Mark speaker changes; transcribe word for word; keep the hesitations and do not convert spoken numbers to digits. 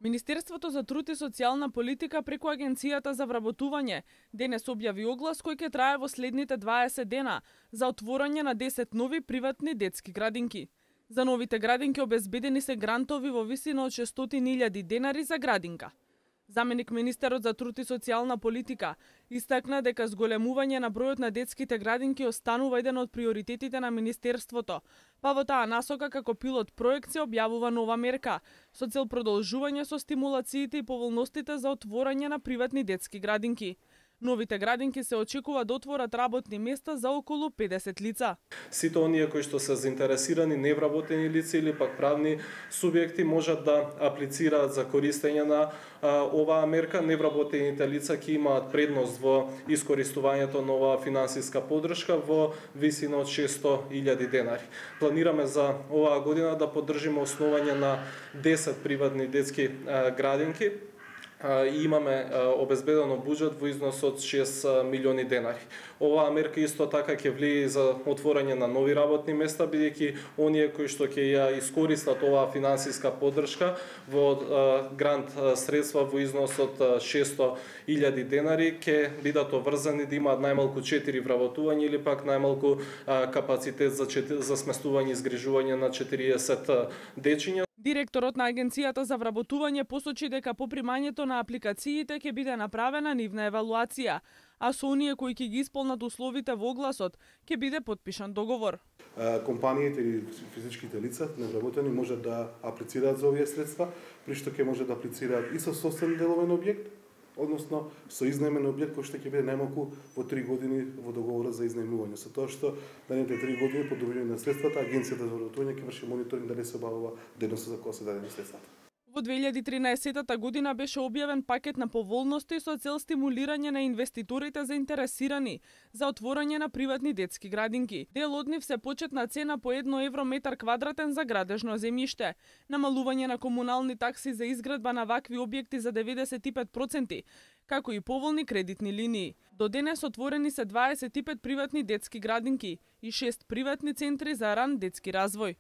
Speaker 1: Министерството за труд и социјална политика преку Агенцијата за вработување денес објави оглас кој ќе трае во следните дваесет дена за отворање на десет нови приватни детски градинки. За новите градинки обезбедени се грантови во висина од шестстотини илјади денари за градинка. Заменик министерот за труд и социјална политика истакна дека зголемување на бројот на детските градинки останува еден од приоритетите на министерството, па во таа насока како пилот проект се објавува нова мерка со цел продолжување со стимулациите и поволностите за отворање на приватни детски градинки. Новите градинки се очекува да отворат работни места за околу педесет лица.
Speaker 2: Сите оние кои што се заинтересирани невработени лица или пак правни субјекти можат да аплицираат за користење на а, оваа мерка. Невработените лица ќе имаат предност во искористувањето на оваа финансиска поддршка во висина од шестстотини илјади денари. Планираме за оваа година да поддржиме основање на десет приватни детски а, градинки. И имаме обезбедено буџет во износ од шест милиони денари. Оваа мерка исто така ќе влие за отворање на нови работни места, бидејќи оние кои што ќе ја искористат оваа финансиска поддршка во грант средства во износ од шестстотини илјади денари ќе бидат обврзани да имаат најмалку четири вработувања или пак најмалку капацитет за за сместување и згрижување на четириесет дечиња.
Speaker 1: Директорот на Агенцијата за вработување посочи дека по примањето на апликациите ќе биде направена нивна евалуација, а со оние кои ќе ги исполнат условите во огласот ќе биде потпишан договор.
Speaker 3: Компаниите или физичките лица невработени можат да аплицираат за овие средства, при што ќе може да аплицираат и со собствен деловен објект, односно со изнаемен објект кој што ќе биде најмалку во три години во договорот за изнаемување. Со тоа што наредните три години по добивање на средствата Агенцијата за вработување ќе врши мониторинг дали се обавува дејноста за која се дадени средствата.
Speaker 1: Во две илјади и тринаесетта година беше објавен пакет на поволности со цел стимулирање на инвеститорите заинтересирани за отворање на приватни детски градинки. Дел од нив се почетна цена по едно евро метар квадратен за градежно земјиште, намалување на комунални такси за изградба на вакви објекти за деветдесет и пет проценти, како и поволни кредитни линии. До денес отворени се дваесет и пет приватни детски градинки и шест приватни центри за ран детски развој.